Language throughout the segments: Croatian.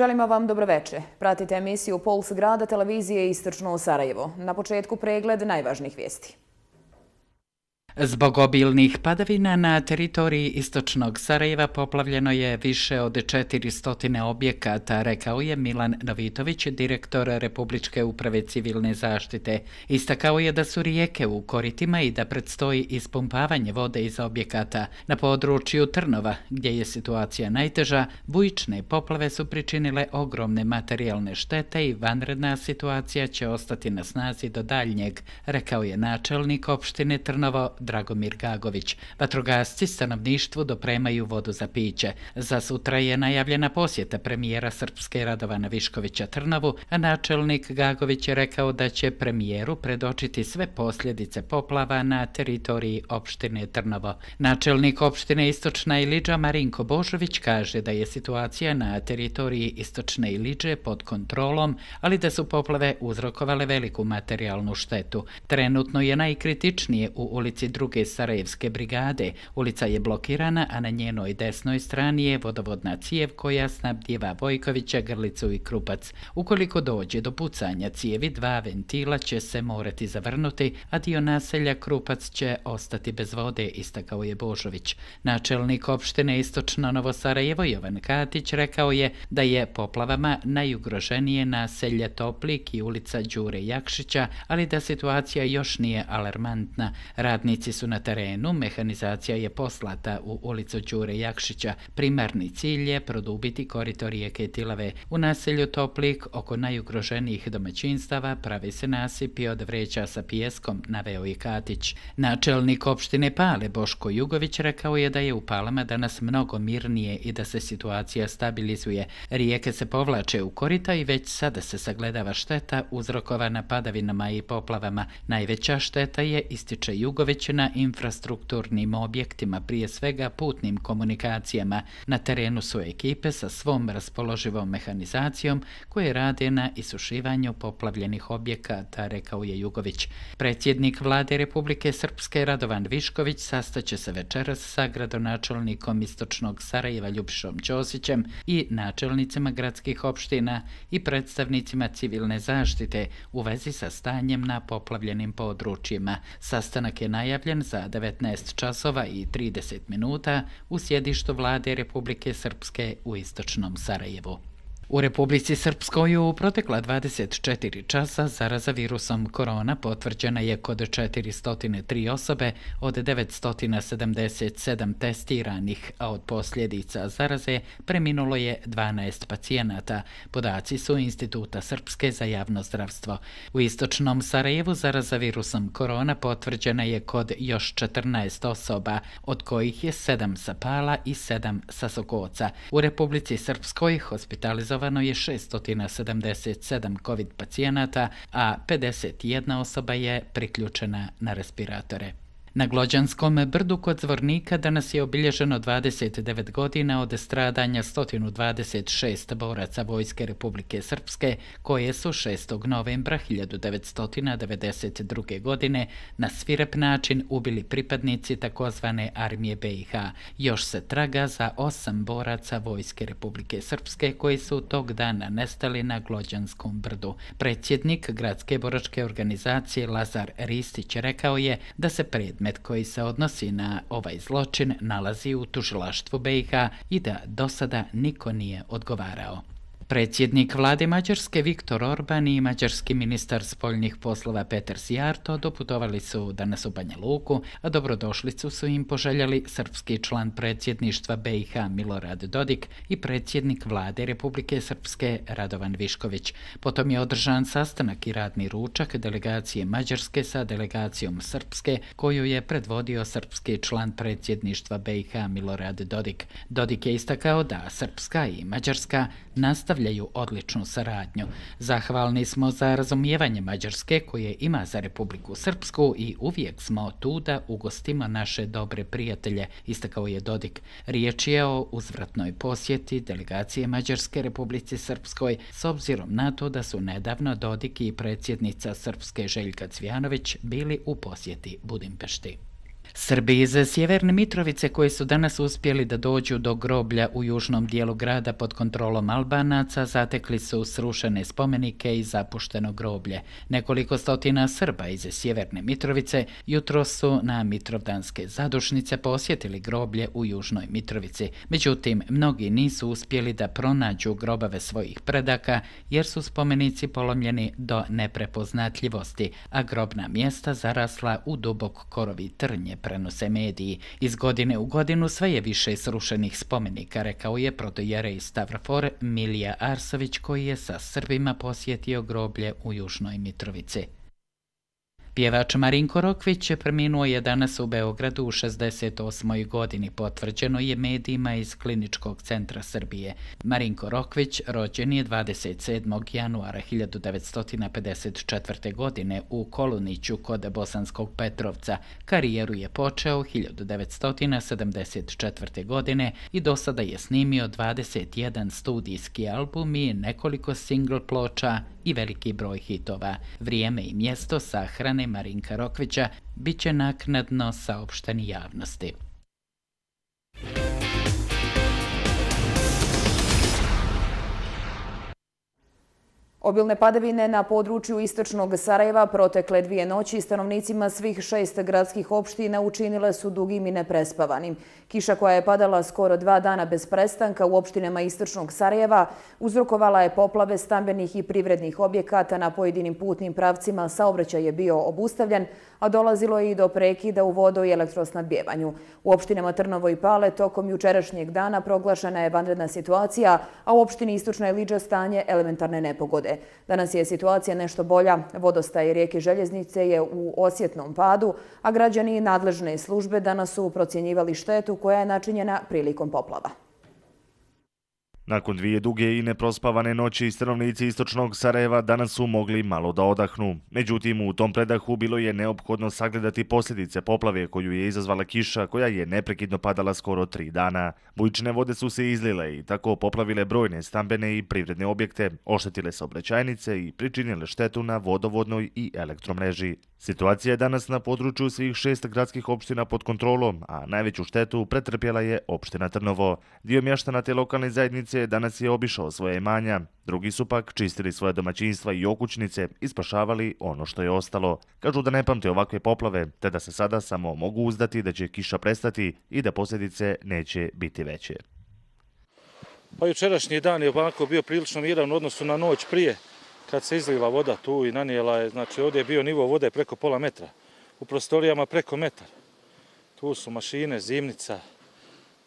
Želimo vam dobroveče. Pratite emisiju Puls grada televizije Istočno Sarajevo. Na početku pregled najvažnijih vijesti. Zbog obilnih padavina na teritoriji istočnog Sarajeva poplavljeno je više od 400 objekata, rekao je Milan Novitović, direktor Republičke uprave civilne zaštite. Istakao je da su rijeke u koritima i da predstoji ispumpavanje vode iz objekata. Na području Trnova, gdje je situacija najteža, bujične poplave su pričinile ogromne materijalne štete i vanredna situacija će ostati na snazi do daljnjeg, rekao je načelnik opštine Trnovo Dragomir Gagović. Vatrogasci stanovništvu dopremaju vodu za piće. Za sutra je najavljena posjeta premijera Srpske Radovana Viškovića Trnovu, a načelnik Gagović je rekao da će premijeru predočiti sve posljedice poplava na teritoriji opštine Trnovo. Načelnik opštine Istočna Ilidža Marinko Božović kaže da je situacija na teritoriji Istočne Ilidže pod kontrolom, ali da su poplave uzrokovale veliku materijalnu štetu. Trenutno je najkritičnije u ulici Druge Sarajevske brigade. Ulica je blokirana, a na njenoj desnoj strani je vodovodna cijev koja snabdijeva Vojkovića, Grlicu i Krupac. Ukoliko dođe do pucanja cijevi, 2 ventila će se morati zavrnuti, a dio naselja Krupac će ostati bez vode, istakao je Božović. Načelnik opštine Istočno Novo Sarajevo Jovan Katić rekao je da je poplavama najugroženije naselje Toplik i ulica Đure Jakšića, ali da situacija još nije alarmantna. Radnici su na terenu, mehanizacija je poslata u ulicu Đure Jakšića. Primarni cilj je produbiti korito rijeke Tilave. U naselju Toplik oko najugroženijih domaćinstava pravi se nasipi od vreća sa pijeskom, naveo je Katić. Načelnik opštine Pale Boško Jugović rekao je da je u Palama danas mnogo mirnije i da se situacija stabilizuje. Rijeke se povlače u korita i već sada se sagledava šteta uzrokovana padavinama i poplavama. Najveća šteta je, ističe Jugović, na infrastrukturnim objektima, prije svega putnim komunikacijama. Na terenu su ekipe sa svom raspoloživom mehanizacijom koje rade na isušivanju poplavljenih objekata, rekao je Jugović. Predsjednik vlade Republike Srpske Radovan Višković sastaće se večeras sa gradonačelnikom Istočnog Sarajeva Ljubišom Ćosićem i načelnicima gradskih opština i predstavnicima civilne zaštite u vezi sa stanjem na poplavljenim područjima. Sastanak je najavljen za 19 časova i 30 minuta u sjedištu vlade Republike Srpske u Istočnom Sarajevu. U Republici Srpskoj u protekla 24 časa zaraza virusom korona potvrđena je kod 403 osobe od 977 testiranih, a od posljedica zaraze preminulo je 12 pacijenata. Podaci su Instituta Srpske za javno zdravstvo. U Istočnom Sarajevu zaraza virusom korona potvrđena je kod još 14 osoba, od kojih je 7 sa Pala i 7 sa Sokoca. U Republici Srpskoj hospitalizovano je 677 COVID pacijenata, a 51 osoba je priključena na respiratore. Na Glođanskom brdu kod Zvornika danas je obilježeno 29 godina od stradanja 126 boraca Vojske Republike Srpske, koje su 6. novembra 1992. godine na svirep način ubili pripadnici takozvane armije BiH. Još se traga za 8 boraca Vojske Republike Srpske koji su tog dana nestali na Glođanskom brdu. Predsjednik gradske boračke organizacije Lazar Ristić rekao je da se predmet koji se odnosi na ovaj zločin nalazi u tužilaštvu BiH i da do sada niko nije odgovarao. Predsjednik vlade Mađarske Viktor Orban i mađarski ministar spoljnih poslova Peter Sijarto doputovali su danas u Banja Luku, a dobrodošlicu su im poželjeli srpski član predsjedništva BiH Milorad Dodik i predsjednik vlade Republike Srpske Radovan Višković. Potom je održan sastanak i radni ručak delegacije Mađarske sa delegacijom Srpske, koju je predvodio srpski član predsjedništva BiH Milorad Dodik. Dodik je istakao da Srpska i Mađarska nastavljaju odličnu saradnju. Zahvalni smo za razumijevanje Mađarske koje ima za Republiku Srpsku i uvijek smo tu da ugostimo naše dobre prijatelje, istakao je Dodik. Riječ je o uzvratnoj posjeti delegacije Mađarske Republici Srpskoj s obzirom na to da su nedavno Dodik i predsjednica Srpske Željka Cvijanović bili u posjeti Budimpešti. Srbi iz Sjeverne Mitrovice koji su danas uspjeli da dođu do groblja u južnom dijelu grada pod kontrolom Albanaca zatekli su srušene spomenike i zapušteno groblje. Nekoliko stotina Srba iz Sjeverne Mitrovice jutro su na Mitrovdanske zadušnice posjetili groblje u južnoj Mitrovici. Međutim, mnogi nisu uspjeli da pronađu grobove svojih predaka jer su spomenici polomljeni do neprepoznatljivosti, a grobna mjesta zarasla u dubok korovi trnje, prenose mediji. Iz godine u godinu sve je više srušenih spomenika, rekao je protojerej Stavrofor Milija Arsović koji je sa Srbima posjetio groblje u južnoj Mitrovici. Pjevač Marinko Rokvić preminuo je danas u Beogradu u 68. godini, potvrđeno je medijima iz Kliničkog centra Srbije. Marinko Rokvić rođen je 27. januara 1954. godine u Koluniću kod Bosanskog Petrovca. Karijeru je počeo 1974. godine i do sada je snimio 21 studijski album i nekoliko single ploča i veliki broj hitova. Vrijeme i mjesto sahrane Marinka Rokvića bit će naknadno saopšteni javnosti. Obilne padavine na području istočnog Sarajeva protekle 2 noći stanovnicima svih 6 gradskih opština učinile su dugim i neprespavanim. Kiša koja je padala skoro 2 dana bez prestanka u opštinama istočnog Sarajeva uzrokovala je poplave stambenih i privrednih objekata na pojedinim putnim pravcima, saobraćaj je bio obustavljen, a dolazilo je i do prekida u vodo- i elektrosnabdjevanju. U opštinama Trnovo i Pale tokom jučerašnjeg dana proglašena je vanredna situacija, a u opštini Istočna Iliđa stanje elementarne nepogode. Danas je situacija nešto bolja. Vodostaj rijeke Željeznice je u osjetnom padu, a građani i nadležne službe danas su procjenjivali štetu koja je načinjena prilikom poplava. Nakon 2 duge i neprospavane noći, stanovnici istočnog Sarajeva danas su mogli malo da odahnu. Međutim, u tom predahu bilo je neophodno sagledati posljedice poplave koju je izazvala kiša koja je neprekidno padala skoro 3 dana. Bujične vode su se izlile i tako poplavile brojne stambene i privredne objekte, oštetile saobraćajnice i pričinile štetu na vodovodnoj i elektromreži. Situacija je danas na području svih 6 gradskih opština pod kontrolom, a najveću štetu pretrpjela je opština Trnovo. Dio mještana te lokalne zajednice danas je obišao svoje imanja, drugi su pak čistili svoje domaćinstva i okućnice i spašavali ono što je ostalo. Kažu da ne pamte ovakve poplave, te da se sada samo mogu uzdati da će kiša prestati i da posljedice neće biti veće. Pa jučerašnji dan je ovako bio prilično miran u odnosu na noć prije, kad se izlila voda tu i nanijela je, znači ovdje je bio nivo vode preko pola metra, u prostorijama preko metar. Tu su mašine, zimnica.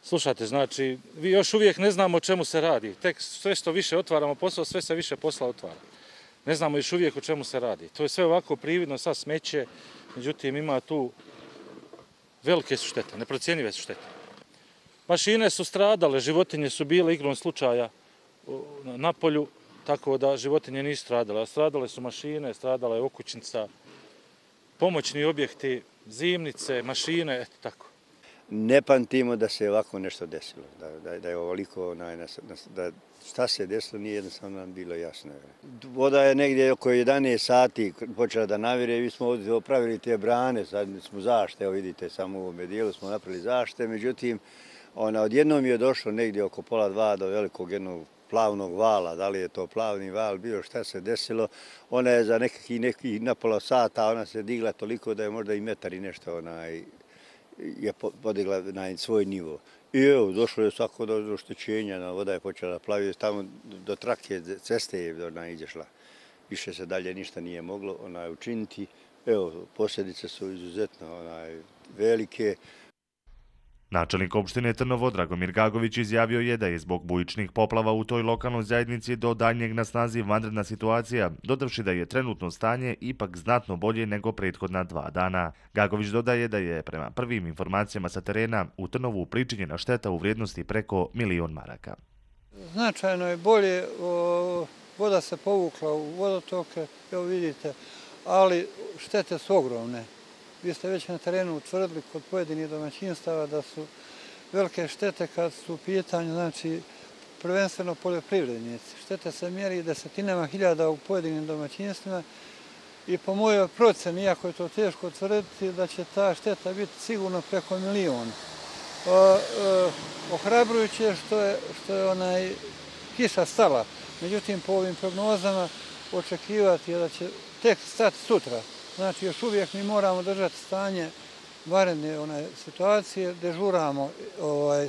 Slušajte, znači, vi još uvijek ne znamo o čemu se radi. Tek sve što više otvaramo posao, sve se više posla otvara. Ne znamo još uvijek o čemu se radi. To je sve ovako prividno, sad smeće, međutim ima tu velike su štete, neprocjenjive su štete. Mašine su stradale, životinje su bile igrom slučaja na polju, tako da životinje nisu stradale. A stradale su mašine, stradala je okućnica, pomoćni objekti, zimnice, mašine, eto tako. Ne pamtimo da se ovako nešto desilo, da je ovoliko, da šta se desilo nije jednostavno nam bilo jasno. Voda je negdje oko 11 sati počela da navire i mi smo ovdje opravili te brane, sad smo zašte, evo vidite samo u ovome dijelu smo napravili zašte, međutim odjednom je došlo negdje oko pola 2 do velikog jednog plavnog vala, da li je to plavni val bio, šta se desilo, ona je za nekih na pola sata, ona se digla toliko da je možda i metar i nešto je podigla na svoj nivo. I evo, došlo je svako do oštećenja, voda je počela plaviti, tamo do trake ceste je izašla. Više se dalje ništa nije moglo učiniti. Evo, posljedice su izuzetno velike. Načelnik opštine Trnovo Dragomir Gagović izjavio je da je zbog bujičnih poplava u toj lokalnoj zajednici do daljnjeg na snazi vanredna situacija, dodavši da je trenutno stanje ipak znatno bolje nego prethodna 2 dana. Gagović dodaje da je prema prvim informacijama sa terena u Trnovu pričinjena šteta u vrijednosti preko 1.000.000 maraka. Značajno je bolje, voda se povukla u vodotoke, evo vidite, ali štete su ogromne. Vi ste već na terenu utvrdili kod pojedinih domaćinstava da su velike štete kad su u pitanju, znači, prvenstveno poljoprivrednici. Štete se mjeri desetinama hiljada u pojedinim domaćinstvima i po mojoj proceni, iako je to teško tvrditi, da će ta šteta biti sigurno preko 1 milion. Ohrabrujuće što je kiša stala. Međutim, po ovim prognozama očekivati je da će tek stati sutra. Znači, još uvijek mi moramo držati stanje vanredne situacije, dežuramo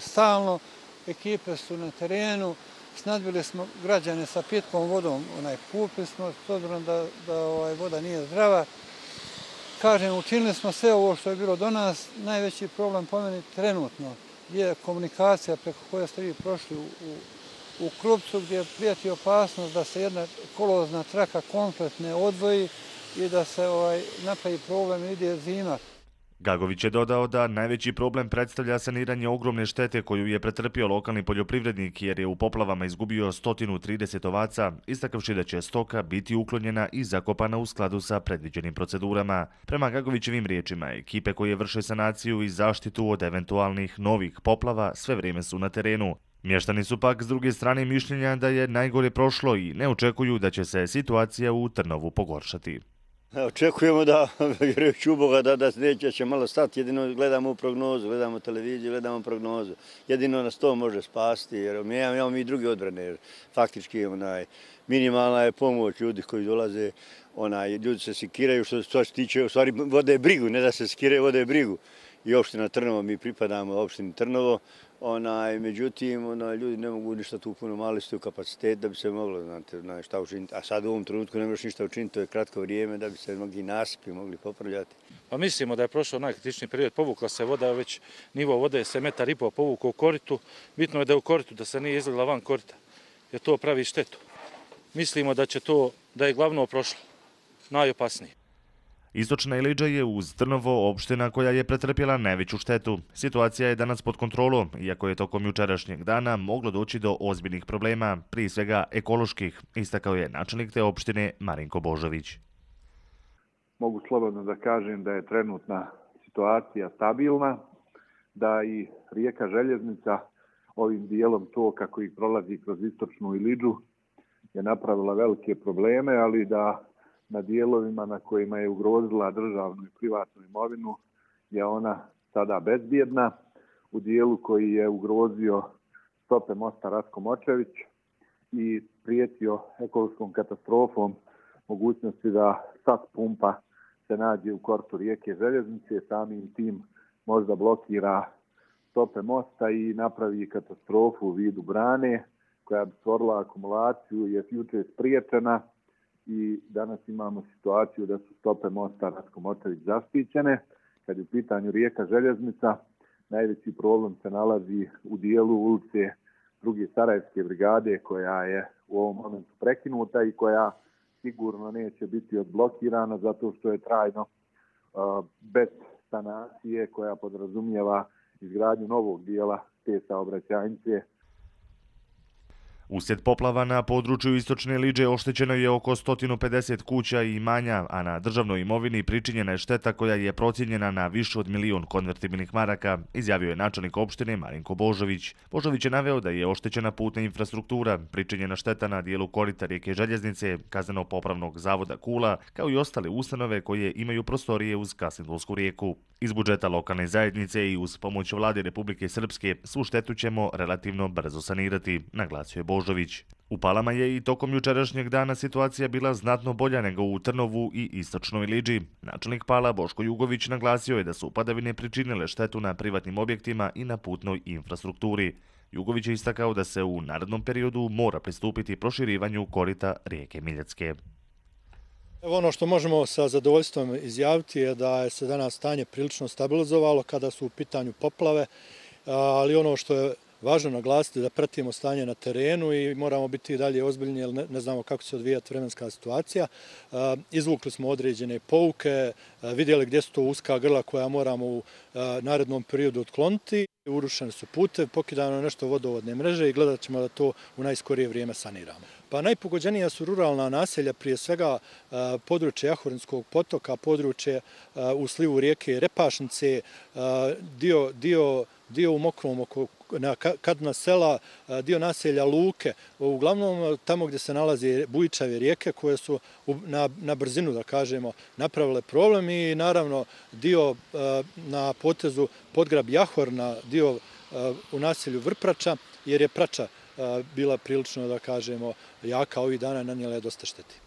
stalno, ekipe su na terenu, snadbili smo građane sa pitkom vodom, kupili smo, s obzirom da voda nije zdrava. Kažem, učinili smo sve ovo što je bilo do nas. Najveći problem po meni trenutno je komunikacija preko koje ste vi prošli u Krupcu, gdje prijeti opasnost da se jedna kolozna traka kompletne odvoji i da se napravi problem i ide zima. Gagović je dodao da najveći problem predstavlja saniranje ogromne štete koju je pretrpio lokalni poljoprivrednik jer je u poplavama izgubio 130 ovaca, istakavši da će stoka biti uklonjena i zakopana u skladu sa predviđenim procedurama. Prema Gagovićevim riječima, ekipe koje vrše sanaciju i zaštitu od eventualnih novih poplava sve vrijeme su na terenu. Mještani su pak s druge strane mišljenja da je najgore prošlo i ne očekuju da će se situacija u Trnovu pogoršati. Očekujemo da, vjerujući u Boga, da neće će malo stati. Jedino gledamo prognozu, gledamo televiziju, gledamo prognozu. Jedino nas to može spasti, jer imamo mi druge odbrane. Faktički minimalna je pomoć ljudi koji dolaze, ljudi se sikiraju što se tiče, u stvari vode brigu, ne da se sikiraju, vode brigu. I opština Trnovo, mi pripadamo opštini Trnovo, međutim, ljudi ne mogu ništa tu puno mali su kapacitet da bi se moglo, znate, šta učiniti. A sad u ovom trenutku ne možeš ništa učiniti, to je kratko vrijeme da bi se mnogi nasipi mogli popravljati. Pa mislimo da je prošao najkritičniji period, povukla se voda, već nivo vode se 1,5 metra povukao u koritu. Bitno je da je u koritu, da se nije izlila van korita, jer to pravi štetu. Mislimo da je glavno prošlo, najopasnije. Istočna Iliđa je uz Trnovo opština koja je pretrpjela najveću štetu. Situacija je danas pod kontrolom, iako je tokom jučerašnjeg dana moglo doći do ozbiljnih problema, prije svega ekoloških, istakao je načelnik te opštine Marinko Božović. Mogu slobodno da kažem da je trenutna situacija stabilna, da i rijeka Željeznica ovim dijelom toka koji prolazi kroz istočnu Iliđu je napravila velike probleme, ali da na dijelovima na kojima je ugrozila državnu i privatnu imovinu je ona sada bezbjedna. U dijelu koji je ugrozio stope mosta Ratko Močević i prijetio ekološkom katastrofom mogućnosti da sat pumpa se nađe u kortu rijeke Željeznice, samim tim možda blokira stope mosta i napravi katastrofu u vidu brane koja bi stvorila akumulaciju, je jučer spriječena. I danas imamo situaciju da su stope mosta Ratko Močević zaštićene. Kad je u pitanju rijeka Željeznica, najveći problem se nalazi u dijelu ulice 2. Sarajevske brigade koja je u ovom momentu prekinuta i koja sigurno neće biti odblokirana zato što je trajno bez sanacije koja podrazumijeva izgradnju novog dijela te saobraćajnice. Uslijed poplava na području Istočne Iliđe oštećeno je oko 150 kuća i imanja, a na državnoj imovini pričinjena je šteta koja je procijenjena na više od 1 milion konvertibilnih maraka, izjavio je načelnik opštine Marinko Božović. Božović je naveo da je oštećena putna infrastruktura, pričinjena šteta na dijelu korita rijeke Željeznice, kazneno-popravnog zavoda Kula, kao i ostale ustanove koje imaju prostorije uz Kasindulsku rijeku. Iz budžeta lokalne zajednice i uz pomoć vlade Republike Srpske svu štetu ćemo relativno brzo sanirati, naglasio je Božović. U Palama je i tokom jučerašnjeg dana situacija bila znatno bolja nego u Trnovu i Istočnoj Iliđi. Načelnik Pala Boško Jugović naglasio je da su padavine pričinile štetu na privatnim objektima i na putnoj infrastrukturi. Jugović je istakao da se u narednom periodu mora pristupiti proširivanju korita rijeke Miljacke. Ono što možemo sa zadovoljstvom izjaviti je da je se danas stanje prilično stabilizovalo kada su u pitanju poplave, ali ono što je važno naglasiti da pratimo stanje na terenu i moramo biti i dalje ozbiljni jer ne znamo kako će se odvijati vremenska situacija. Izvukli smo određene pouke, vidjeli gdje su to uska grla koja moramo u narednom periodu otkloniti. Urušeni su putevi, pokidano je nešto vodovodne mreže i gledat ćemo da to u najskorije vrijeme saniramo. Pa najpogođenija su ruralna naselja, prije svega područje Jahorinskog potoka, područje u slivu rijeke Repašnice, dio dio u Mokrom, Kadna sela, dio naselja Luke, uglavnom tamo gdje se nalaze bujičave rijeke koje su na brzinu, da kažemo, napravile problem i naravno dio na potezu Podgrab Jahorna, dio u naselju Vrprača, jer je prača bila prilično, da kažemo, jaka ovih dana, nanijela je dosta šteti.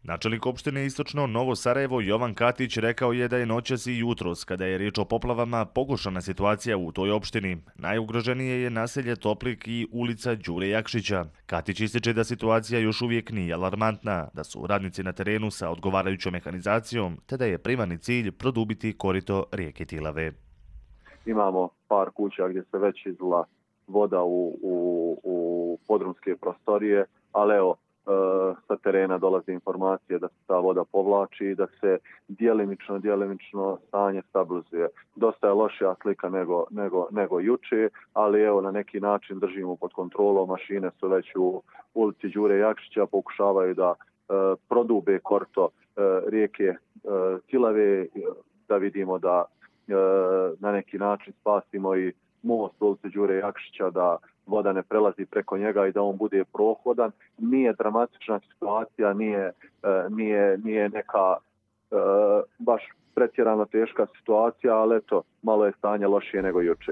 Načelnik opštine Istočno Novo Sarajevo Jovan Katić rekao je da je noćas i jutros, kada je riječ o poplavama, pogoršana situacija u toj opštini. Najugroženije je naselje Toplik i ulica Đure Jakšića. Katić ističe da situacija još uvijek nije alarmantna, da su radnici na terenu sa odgovarajućom mehanizacijom, te da je primarni cilj produbiti korito rijeke Tilave. Imamo par kuća gdje se već izlila voda u podrumske prostorije, ali evo, sa terena dolaze informacije da se ta voda povlači i da se djelimično stanje stabilizuje. Dosta je lošija slika nego juče, ali evo na neki način držimo pod kontrolom. Mašine su već u ulici Đure Jakšića, pokušavaju da prodube korito rijeke Tilave, da vidimo da na neki način spasimo i most u ulici Đure Jakšića, da voda ne prelazi preko njega i da on bude prohodan. Nije dramatična situacija, nije neka baš pretjerano teška situacija, ali eto, malo je stanje lošije nego juče.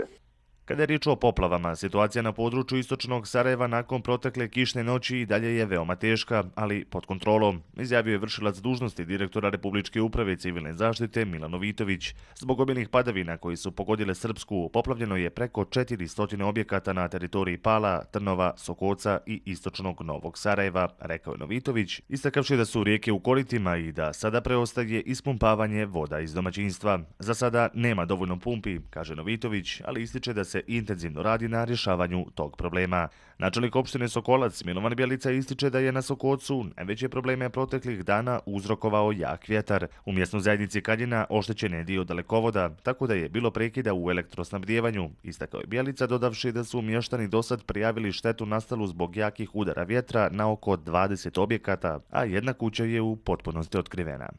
Kada je riječ o poplavama, situacija na području Istočnog Sarajeva nakon protekle kišne noći i dalje je veoma teška, ali pod kontrolom, izjavio je vršilac dužnosti direktora Republičke uprave civilne zaštite Milan Novitović. Zbog obilnih padavina koji su pogodile Srpsku, poplavljeno je preko 400 objekata na teritoriji Pala, Trnova, Sokoca i Istočnog Novog Sarajeva, rekao je Novitović, istakavši da su rijeke u koritima i da sada preostaje ispumpavanje voda iz domaćinstva. Za sada nema dovoljno pumpi, kaže Novitović, ali ističe da se intenzivno radi na rješavanju tog problema. Načelnik opštine Sokolac Milovan Bjelica ističe da je na Sokocu najveće probleme proteklih dana uzrokovao jak vjetar. U mjesnoj zajednici Kaljina oštećen je dio dalekovoda, tako da je bilo prekida u elektrosnabdijevanju, istakao je Bjelica, dodavši da su mještani dosad prijavili štetu nastalu zbog jakih udara vjetra na oko 20 objekata, a jedna kuća je u potpunosti otkrivena.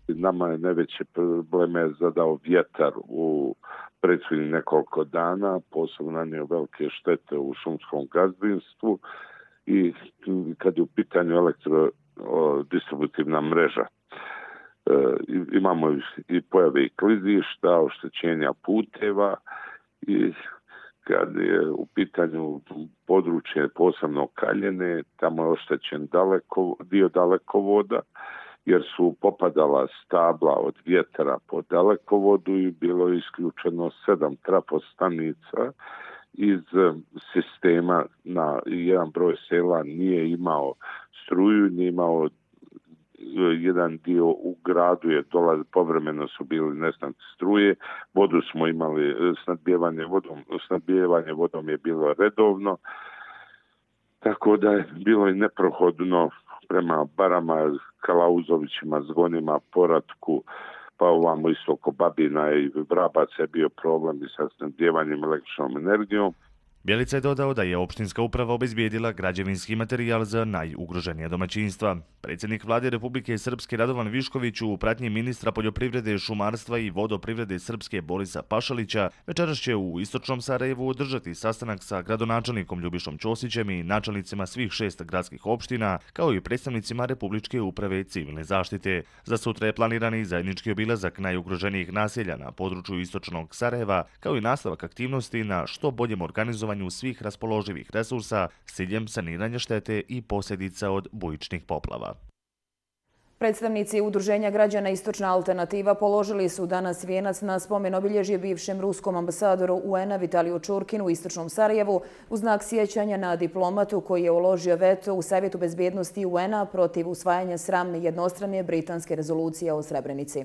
Nama je najveće probleme zadao vjetar u prethodnih nekoliko dana, posebno nanio velike štete u šumskom gazdinstvu i kad je u pitanju elektrodistributivna mreža. Imamo i pojave i klizišta, oštećenja puteva i kad je u pitanju područje posebno Kaljene, tamo je oštećen dio dalekovoda, jer su popadala stabla od vjetra po dalekovodu i bilo je isključeno 7 trafostanica iz sistema. Na jedan broj sela nije imao struju, nije imao jedan dio u gradu je povremeno su bili nestanci struje, vodu smo imali, snadbijevanje vodom je bilo redovno, tako da je bilo i neprohodno prema Barama, Kalauzovićima, Zgonima, Poratku, pa ovamo isto oko Babina i Vrabaca je bio problem i sa snabdijevanjem električnom energijom. Bjelica je dodao da je opštinska uprava obezbijedila građevinski materijal za najugroženija domaćinstva. Predsjednik vlade Republike Srpske Radovan Višković u pratnji ministra poljoprivrede, šumarstva i vodoprivrede Srpske Borisa Pašalića večeras će u Istočnom Sarajevu održati sastanak sa gradonačelnikom Ljubišom Ćosićem i načelnicima svih 6 gradskih opština, kao i predstavnicima Republičke uprave civilne zaštite. Za sutra je planirani zajednički obilazak najugroženijih naselja na području Istočnog Sarajeva, kao i nastavak aktivnosti na što boljem organizovanju svih raspoloživih resursa s ciljem saniranja štete i posljedica od bujičnih poplava. Predstavnici Udruženja građana Istočna alternativa položili su danas vijenac na spomen obilježje bivšem ruskom ambasadoru UN-a Vitaliju Čurkinu u Istočnom Sarajevu u znak sjećanja na diplomatu koji je uložio veto u Savjetu bezbjednosti UN-a protiv usvajanja sramne jednostrane britanske rezolucije o Srebrenici.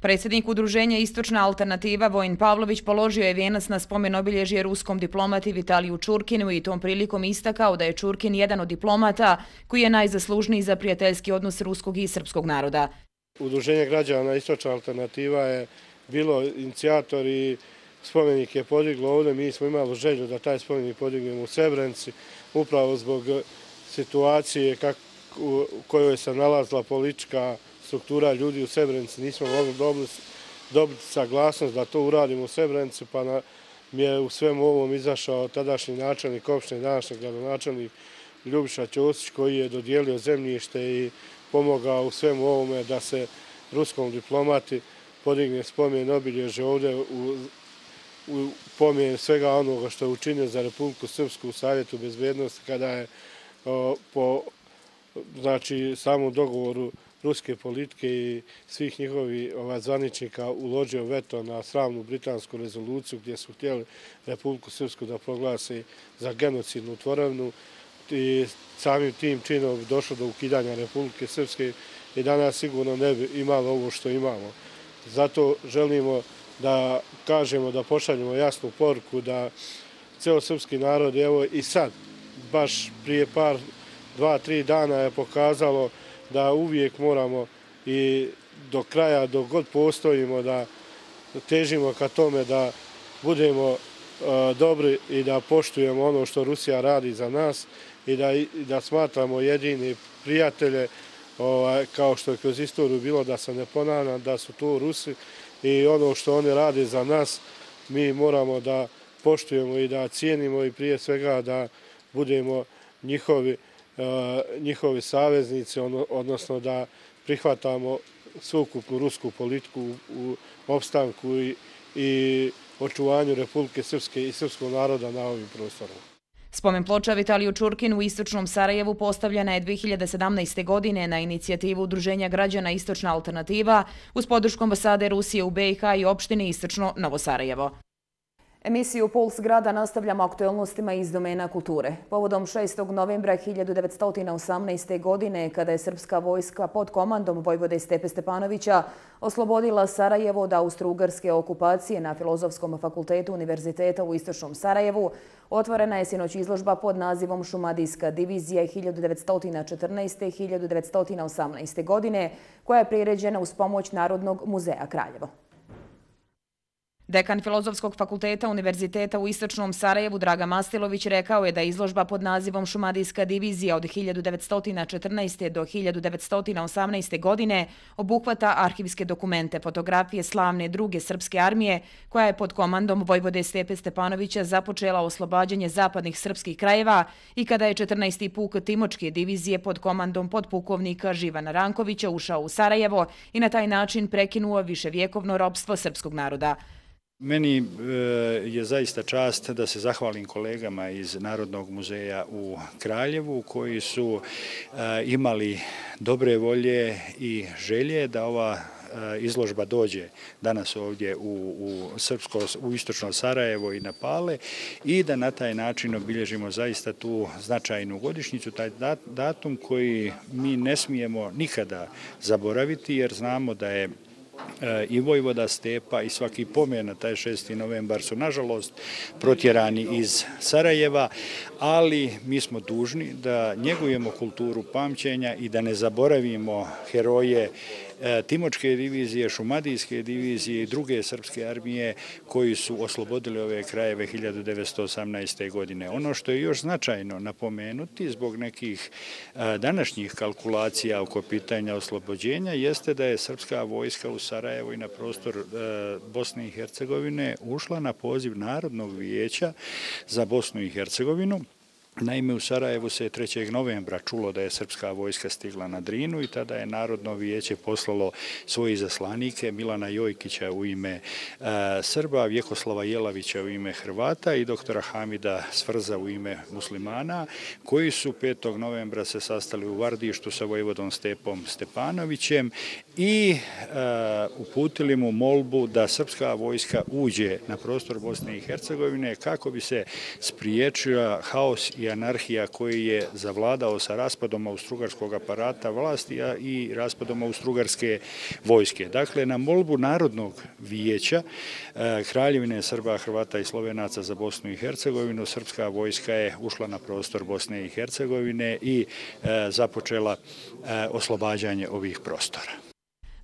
Predsjednik Udruženja Istočna alternativa Vojin Pavlović položio je vijenac na spomen obilježje ruskom diplomati Vitaliju Čurkinu i tom prilikom istakao da je Čurkin jedan od diplomata koji je najzaslužniji za prijateljski odnos ruskog i srpskog naroda. Udruženje građana Istočna alternativa je bilo inicijator i spomenik je podiglo ovdje. Mi smo imali želju da taj spomenik podignemo u Srebrenici upravo zbog situacije u kojoj se nalazila politička struktura ljudi u Srebrenici. Nismo mogli dobiti saglasnost da to uradimo u Srebrenici, pa mi je u svemu ovom izašao tadašnji načelnik opštine, današnji gradonačelnik Ljubiša Ćosić, koji je dodijelio zemljište i pomogao u svemu ovome da se ruskom diplomati podigne spomen obilježje ovdje u pomen svega onoga što je učinio za Republiku Srpsku u Savjetu bezbednosti, kada je po samom dogovoru ruske politike i svih njihovih zvaničnika uložio veto na sramnu britansku rezoluciju gdje su htjeli Republiku Srpsku da proglasi za genocidnu tvorevinu i samim tim činom došlo do ukidanja Republike Srpske i danas sigurno ne bi imalo ovo što imamo. Zato želimo da kažemo, da pošaljemo jasnu poruku da celosrpski narod, evo i sad, baš prije 2-3 dana je pokazalo da uvijek moramo i do kraja, dok god postojimo, da težimo ka tome da budemo dobri i da poštujemo ono što Rusija radi za nas i da smatramo jedini prijatelje, kao što je kroz istoriju bilo, da se ne ponavljam, da su to Rusi i ono što oni rade za nas mi moramo da poštujemo i da cijenimo i prije svega da budemo njihovi saveznici, odnosno da prihvatamo sveukupnu rusku politiku u opstanku i očuvanju Republike Srpske i srpskog naroda na ovim prostorima. Spomen ploča Vitaliju Čurkinu u istočnom Sarajevu postavljena je 2017. godine na inicijativu Udruženja građana Istočna alternativa uz podršku ambasade Rusije u BiH i opštine Istočno Novo Sarajevo. Emisiju Puls grada nastavljamo aktuelnostima iz domena kulture. Povodom 6. novembra 1918. godine, kada je srpska vojska pod komandom vojvode Stepe Stepanovića oslobodila Sarajevo od austro-ugarske okupacije na Filozofskom fakultetu Univerziteta u Istočnom Sarajevu, otvorena je sinoć izložba pod nazivom Šumadijska divizija 1914-1918. godine, koja je priređena uz pomoć Narodnog muzeja Kraljevo. Dekan Filozofskog fakulteta Univerziteta u Istočnom Sarajevu Draga Mastilović rekao je da izložba pod nazivom Šumadijska divizija od 1914. do 1918. godine obuhvata arhivske dokumente, fotografije slavne druge srpske armije koja je pod komandom vojvode Stepe Stepanovića započela oslobađanje zapadnih srpskih krajeva i kada je 14. puk Timočke divizije pod komandom podpukovnika Živana Rankovića ušao u Sarajevo i na taj način prekinuo viševjekovno ropstvo srpskog naroda. Meni je zaista čast da se zahvalim kolegama iz Narodnog muzeja u Kraljevu koji su imali dobre volje i želje da ova izložba dođe danas ovdje u Istočno Sarajevo i na Pale i da na taj način obilježimo zaista tu značajnu godišnjicu, taj datum koji mi ne smijemo nikada zaboraviti jer znamo da je i vojvoda Stepa i svaki pomen na taj 6. novembar su nažalost protjerani iz Sarajeva, ali mi smo dužni da njegujemo kulturu pamćenja i da ne zaboravimo heroje Timočke divizije, Šumadijske divizije i druge srpske armije koji su oslobodili ove krajeve 1918. godine. Ono što je još značajno napomenuti zbog nekih današnjih kalkulacija oko pitanja oslobođenja jeste da je srpska vojska u Sarajevo i na prostor Bosne i Hercegovine ušla na poziv Narodnog vijeća za Bosnu i Hercegovinu. Naime, u Sarajevu se 3. novembra čulo da je srpska vojska stigla na Drinu i tada je Narodno vijeće poslalo svoje izaslanike Milana Jojkića u ime Srba, Vjekoslava Jelavića u ime Hrvata i doktora Hamida Svrza u ime muslimana, koji su 5. novembra se sastali u Vardištu sa vojvodom Stepom Stepanovićem i uputili mu molbu da srpska vojska uđe na prostor Bosne i Hercegovine kako bi se spriječila haos i anarhija koji je zavladao sa raspadom austrougarskog aparata vlasti i raspadom austrougarske vojske. Dakle, na molbu Narodnog vijeća Kraljevine Srba, Hrvata i Slovenaca za Bosnu i Hercegovinu, srpska vojska je ušla na prostor Bosne i Hercegovine i započela oslobađanje ovih prostora.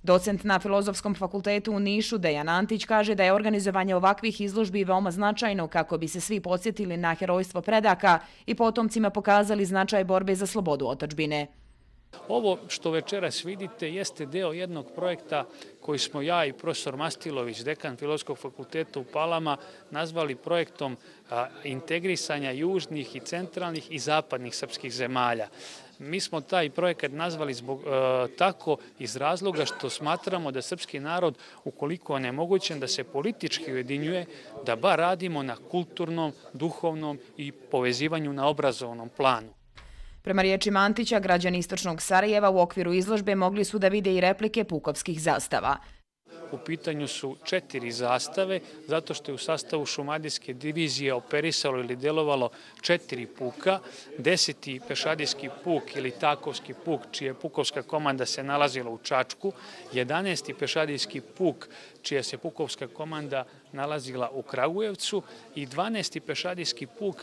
Docent na Filozofskom fakultetu u Nišu Dejan Antić kaže da je organizovanje ovakvih izložbi veoma značajno kako bi se svi podsjetili na herojstvo predaka i potomcima pokazali značaj borbe za slobodu otadžbine. Ovo što večeras vidite jeste deo jednog projekta koji smo ja i profesor Mastilović, dekan Filozofskog fakulteta u Palama, nazvali projektom integrisanja južnih i centralnih i zapadnih srpskih zemalja. Mi smo taj projekat nazvali tako iz razloga što smatramo da srpski narod, ukoliko je onemogućen da se politički ujedinjuje, da bar radimo na kulturnom, duhovnom i povezivanju na obrazovnom planu. Prema riječima Antića, građani istočnog Sarajeva u okviru izložbe mogli su da vide i replike pukovskih zastava. U pitanju su 4 zastave, zato što je u sastavu šumadijske divizije operisalo ili delovalo 4 puka, 10. pešadijski puk ili Takovski puk, čija pukovska komanda se nalazila u Čačku, 11. pešadijski puk, čija se pukovska komanda nalazila u Kragujevcu i 12. pešadijski puk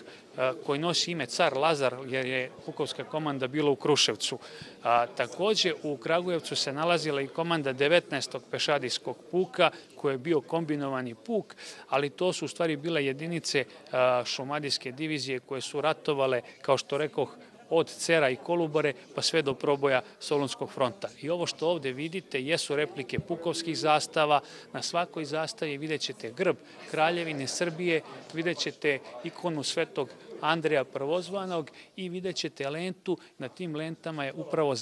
koji nosi ime Car Lazar jer je pukovska komanda bila u Kruševcu. Takođe u Kragujevcu se nalazila i komanda 19. pešadijskog puka koji je bio kombinovani puk, ali to su u stvari bile jedinice šumadijske divizije koje su ratovale, kao što rekoh, od Cera i Kolubare pa sve do proboja Solunskog fronta. I ovo što ovde vidite jesu replike pukovskih zastava. Na svakoj zastavi vidjet ćete grb Kraljevine Srbije, vidjet ćete ikonu Svetog Andreja Prvozvanog i vidjet ćete lentu. Na tim lentama je upravo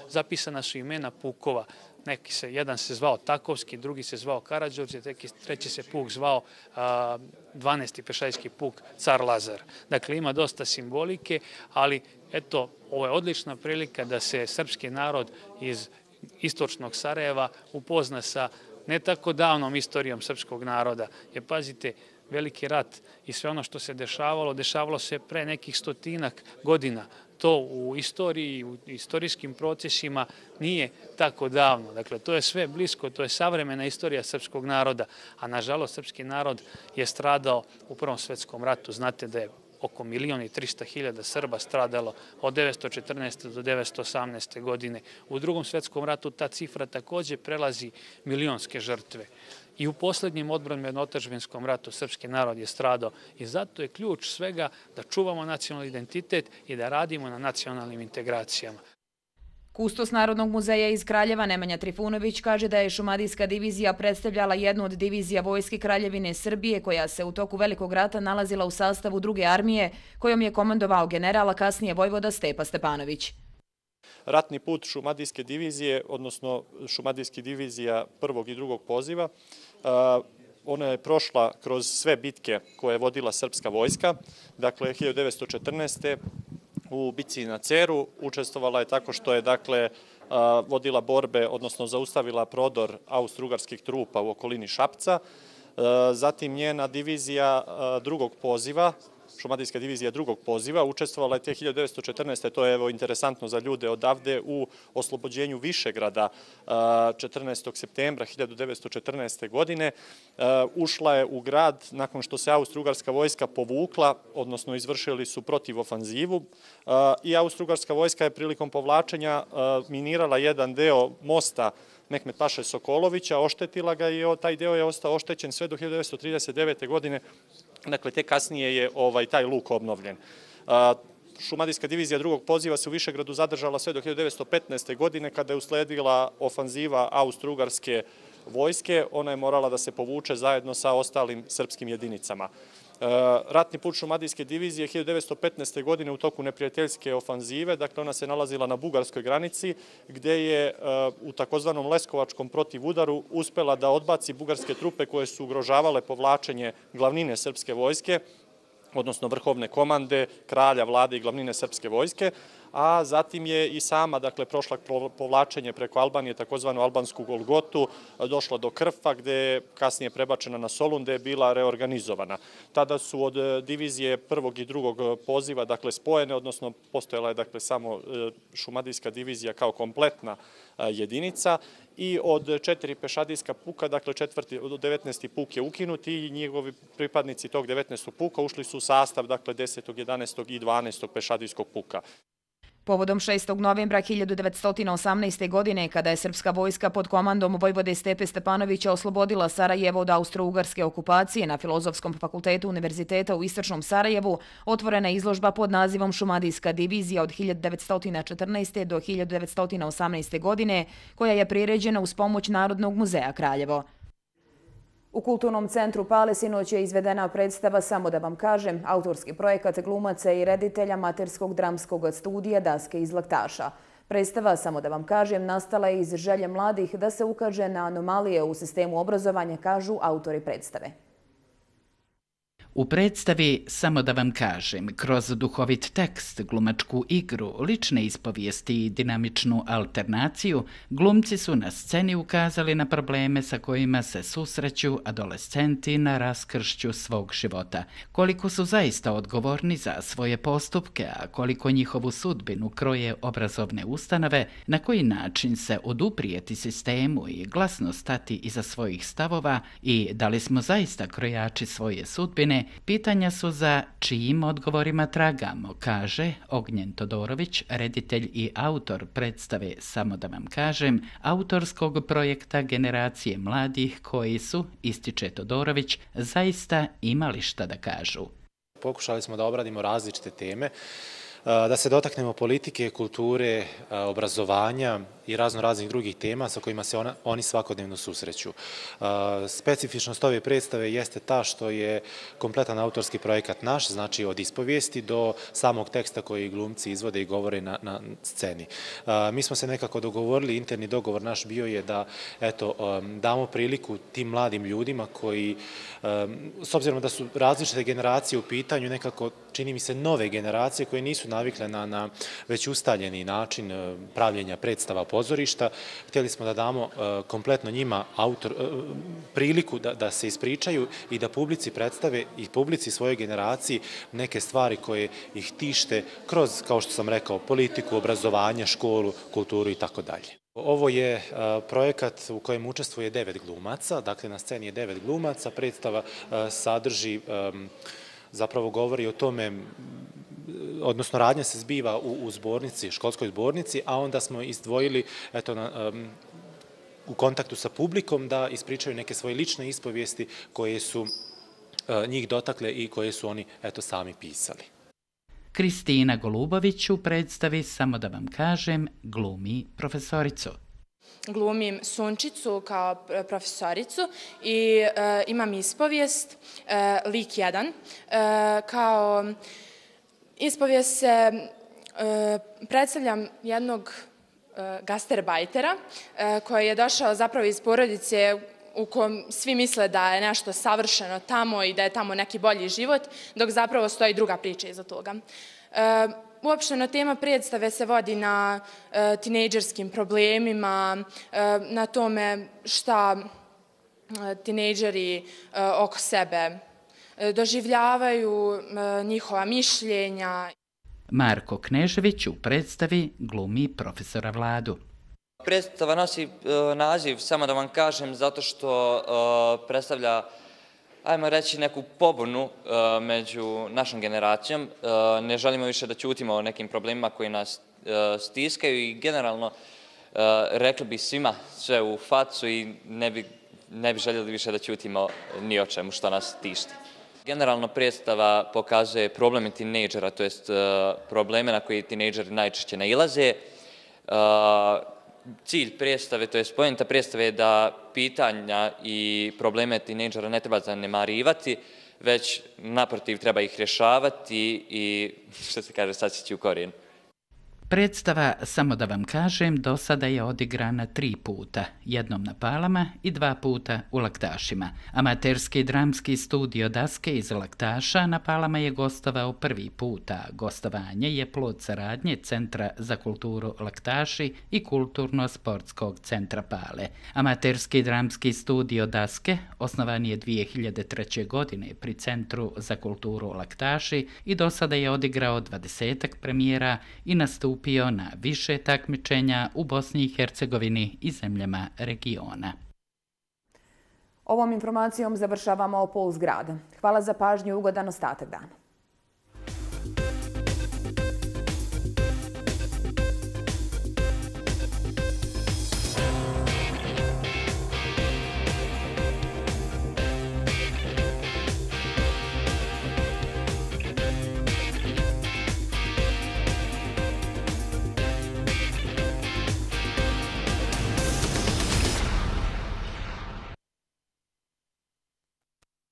zapisana su imena pukova. Jedan se zvao Takovski, drugi se zvao Karađorđe, treći se puk zvao 12. pešadijski puk Car Lazar. Dakle, ima dosta simbolike, ali eto, ovo je odlična prilika da se srpski narod iz istočnog Sarajeva upozna sa ne tako davnom istorijom srpskog naroda. Jer pazite, veliki rat i sve ono što se dešavalo se pre nekih 100 godina. To u istoriji, u istorijskim procesima nije tako davno. Dakle, to je sve blisko, to je savremena istorija srpskog naroda, a nažalost srpski narod je stradao u Prvom svetskom ratu. Znate da je oko 1.300.000 Srba stradalo od 1914. do 1918. godine. U Drugom svetskom ratu ta cifra takođe prelazi milionske žrtve. I u poslednjem odbrambeno-otadžbinskom ratu srpski narod je stradao i zato je ključ svega da čuvamo nacionalni identitet i da radimo na nacionalnim integracijama. Kustos Narodnog muzeja iz Kraljeva Nemanja Trifunović kaže da je šumadijska divizija predstavljala jednu od divizija Vojske Kraljevine Srbije koja se u toku Velikog rata nalazila u sastavu druge armije kojom je komandovao general, a kasnije vojvoda Stepa Stepanović. Ratni put šumadijske divizije, odnosno šumadijskih divizija prvog i drugog poziva, ona je prošla kroz sve bitke koje je vodila srpska vojska. Dakle, 1914. u bici na Ceru učestvovala je tako što je vodila borbe, odnosno zaustavila prodor austro-ugarskih trupa u okolini Šapca. Zatim njena divizija drugog poziva, šumadijska divizija drugog poziva, učestvovala je te 1914. To je interesantno za ljude odavde u oslobođenju Višegrada 14. septembra 1914. godine. Ušla je u grad nakon što se austro-ugarska vojska povukla, odnosno izvršili su protivofanzivu i austro-ugarska vojska je prilikom povlačenja minirala jedan deo mosta Mehmet Paše Sokolovića, oštetila ga i taj deo je ostao oštećen sve do 1939. godine. Dakle, te kasnije je taj luk obnovljen. Šumadijska divizija drugog poziva se u Višegradu zadržala sve do 1915. godine kada je usledila ofanziva austro-ugarske vojske. Ona je morala da se povuče zajedno sa ostalim srpskim jedinicama. Ratni put šumadijske divizije 1915. godine u toku neprijateljske ofanzive, dakle ona se nalazila na bugarskoj granici gde je u takozvanom Leskovačkom protivudaru uspela da odbaci bugarske trupe koje su ugrožavale povlačenje glavnine srpske vojske, odnosno vrhovne komande, kralja, vlade i glavnine srpske vojske, a zatim je i sama, prošla povlačenje preko Albanije, takozvanu albansku Golgotu, došla do Krfa, gde je kasnije prebačena na Solun, gde je bila reorganizovana. Tada su od divizije prvog i drugog poziva, spojene, odnosno postojala je samo šumadijska divizija kao kompletna jedinica i od 4 pešadijska puka, od 19. puk je ukinut i njegovi pripadnici tog 19. puka ušli su u sastav 10., 11. i 12. pešadijskog puka. Povodom 6. novembra 1918. godine, kada je srpska vojska pod komandom vojvode Stepe Stepanovića oslobodila Sarajevo od austro-ugarske okupacije, na Filozofskom fakultetu Univerziteta u Istočnom Sarajevu otvorena je izložba pod nazivom Šumadijska divizija od 1914. do 1918. godine, koja je priređena uz pomoć Narodnog muzeja Kraljevo. U Kulturnom centru Pale sinoć je izvedena predstava Samo da vam kažem, autorski projekat glumaca i reditelja amaterskog dramskog studija Daske iz Laktaša. Predstava Samo da vam kažem nastala je iz želje mladih da se ukaže na anomalije u sistemu obrazovanja, kažu autori predstave. U predstavi Samo da vam kažem, kroz duhovit tekst, glumačku igru, lične ispovijesti i dinamičnu alternaciju, glumci su na sceni ukazali na probleme sa kojima se susreću adolescenti na raskršću svog života. Koliko su zaista odgovorni za svoje postupke, a koliko njihovu sudbinu kroje obrazovne ustanove, na koji način se oduprijeti sistemu i glasno stati iza svojih stavova i da li smo zaista krojači svoje sudbine, pitanja su za čijim odgovorima tragamo, kaže Ognjen Todorović, reditelj i autor predstave Samo da vam kažem, autorskog projekta generacije mladih koji su, ističe Todorović, zaista imali šta da kažu. Pokušali smo da obradimo različite teme, da se dotaknemo politike, kulture, obrazovanja i raznih drugih tema sa kojima se oni svakodnevno susreću. Specifičnost ove predstave jeste ta što je kompletan autorski projekat naš, znači od ispovijesti do samog teksta koji glumci izvode i govore na sceni. Mi smo se nekako dogovorili, interni dogovor naš bio je da damo priliku tim mladim ljudima koji, s obzirom da su različite generacije u pitanju, nekako čini mi se nove generacije koje nisu navikle na već ustaljeni način pravljenja predstava pozorišta. Htjeli smo da damo kompletno njima priliku da se ispričaju i da publici predstave i publici svojoj generaciji neke stvari koje ih tište kroz, kao što sam rekao, politiku, obrazovanje, školu, kulturu i tako dalje. Ovo je projekat u kojem učestvuje 9 glumaca, dakle na sceni je 9 glumaca, predstava sadrži, zapravo govori o tome, odnosno radnja se zbiva u zbornici, školskoj zbornici, a onda smo izdvojili u kontaktu sa publikom da ispričaju neke svoje lične ispovijesti koje su njih dotakle i koje su oni sami pisali. Kristina Golubović u predstavi Samo da vam kažem glumi profesoricu. Glumim Sunčicu kao profesoricu i imam ispovijest, lik 1. Kao ispovijest se predstavljam jednog gastarbajtera koji je došao zapravo iz porodice u kojem svi misle da je nešto savršeno tamo i da je tamo neki bolji život, dok zapravo stoji druga priča iza toga. Uopšteno tema predstave se vodi na tinejdžerskim problemima, na tome šta tinejdžeri oko sebe doživljavaju, njihova mišljenja. Marko Knežević u predstavi glumi profesora Vladu. Predstava nosi naziv Samo da vam kažem zato što predstavlja, ajmo reći, neku pobunu među našom generacijom. Ne želimo više da ćutimo o nekim problemima koji nas stiskaju i generalno rekli bi svima sve u facu i ne bi željeli više da ćutimo ni o čemu što nas tišti. Generalno predstava pokazuje probleme tinejdžera, to jest probleme na koje tinejdžeri najčešće nailaze. Cilj predstave, to jest poenta predstave je da pitanja i probleme tinejdžera ne treba zanemarivati, već naprotiv treba ih rješavati i, što se kaže, sasjeći u korijen. Predstava Samo da vam kažem do sada je odigrana 3 puta, jednom na Palama i 2 puta u Laktašima. Amaterski dramski studio Daske iz Laktaša na Palama je gostovao 1. puta. Gostovanje je plod saradnje Centra za kulturu Laktaši i Kulturno-sportskog centra Pale. Amaterski dramski studio Daske osnovan je 2003. godine pri Centru za kulturu Laktaši i do sada je odigrao 20 premijera i nastupio na više takmičenja u Bosni i Hercegovini i zemljama regiona. Ovom informacijom završavamo Puls grada. Hvala za pažnju i ugodan ostatak dana.